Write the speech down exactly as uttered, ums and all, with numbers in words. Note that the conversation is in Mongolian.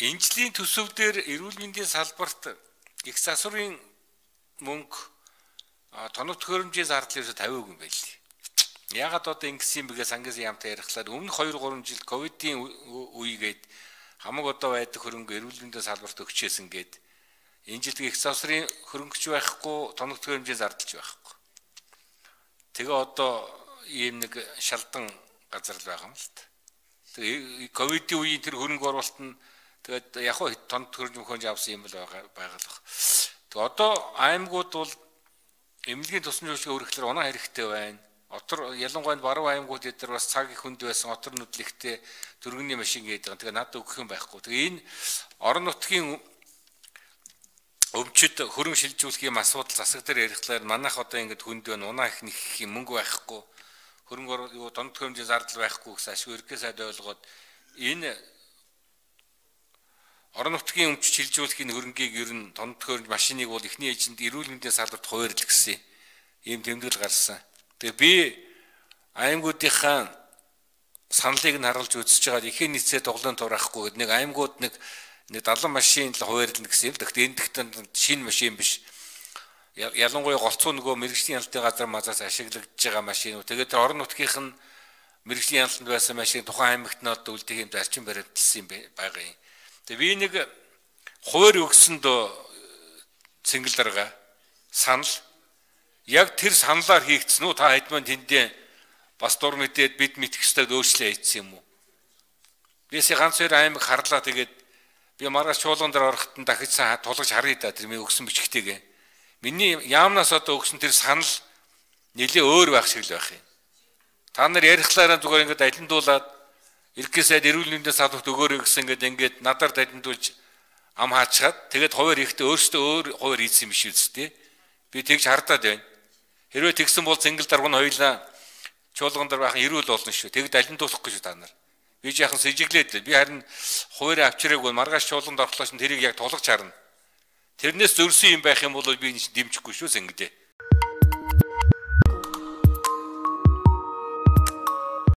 Энжлийн төсөв дээр эрүүл мэндийн салбарт их засварын мөнгө тоног төхөөрөмжийн зардал ерөөсө тавиагүй юм байли. Ягаад одоо ингэсэн юм бэ гэж сангаас яамтай ярихлаар өмнө хоёр гурван жил ковидын үегээд хамаг одоо байдаг хөрөнгө эрүүл мэндийн салбарт өгчээсэн гээд энэ жил их засварын хөрөнгөч байхгүй, тоног төхөөрөмжийн зардалч байхгүй. Тэгээ одоо ийм нэг шалдан газар л байгаа юм л та. Тэгээ ковидын үеийн тэр хөрөнгө оруулалт нь тэгээд яг хөө тоног төхөөрөмж хөнж авсан юм бол байгаа байгалах. Тэгээ одоо аймагуд бол эмнэлгийн тусламж үйлчилгээ өргөхлөөр оноо хэрэгтэй байна. Отор ялангуяа баруун аймагуд эдгээр бас цаг их хүнд байсан отор нүдлэгтэй дөргөний машин гэдэг. Тэгээ надад өгөх юм байхгүй. Тэгээ энэ орон нутгийн өвчид хөрөнгө шилжүүлэх юм асуудал засаг дээр ярихлаар манайх одоо ингэж хүнд байна. Унаа их нэг юм мөнгө байхгүй. Хөрөнгө юу тоног төхөөрөмжийн зардал байхгүй гэсэн ашиг өргөө сайд ойлгоод энэ орон нутгийн өмч шилжүүлэхийн хөрөнгийг ер нь тоног төхөөрөмж машиныг бол эхний эжинд эрүүл мэндийн салбарт хуваарлал гэсэн ийм тэмдэглэл гарсан. Тэгээ би аймагуудынхаа саналыг нь харуулж үзэж байгаа ихэн нийцээ тоглоом тураахгүй нэг аймагууд нэг нэг далан машин л хуваарлал гэсэн юм. Тэгэхдээ энэ дэхтэн шинэ машин биш. Ялангуяа голцоо нөгөө мэрэгжлийн ялалтын газар мазаас ашиглагдж байгаа машинууд. Тэгээд орон нутгийнх нь мэрэгжлийн ялалтанд байсан машин тухайн аймагт нь одоо үлдээх юм зарчим баримталсан юм байгаа юм. Тэгээ би нэг хуваар өгсөнд цэнгэл дарга санал яг тэр саналаар хийгдсэн үү та хэдмэн тэндээ бас дур мэдээд бид мэдэх ёстой өөрчлөлт хийсэн юм уу? Бисээ ганц хоёр аймаг харлаа тэгээд би маргааш чуулган дээр ороход нь дахиж тулгаж харъя да тэр миний өгсөн бичгтэйгээ. Миний яамнаас одоо өгсөн тэр санал нэлээ өөр байх шиг л байх юм. Та нар ярихлаараа зүгээр ингээд алиндуулаад иргэний сайд эрүүл мэндийн салбарт өгөөрэй гэсэн ингээд ингээд надаар алиндуулж ам хаачаад тэгээд хуваар ихтэй өөрсдөө өөр хуваар хийсэн юм биш үсттэй. Би тэгж хардаад байна. Хэрвээ тэгсэн бол цэнгэл дарга нь хоёлаа чуулган дээр байхын эрүүл болно шүү. Тэгд алиндуулахгүй шүү та нар. Би жаахан сэжиглээд би харин хуваараа авчираагүй маргааш чуулганд орлооч нь тэрийг яг тулгаж харна. Тэрнээс зөрсөн юм байх юм бол би дэмжихгүй шүү зэнгдээ.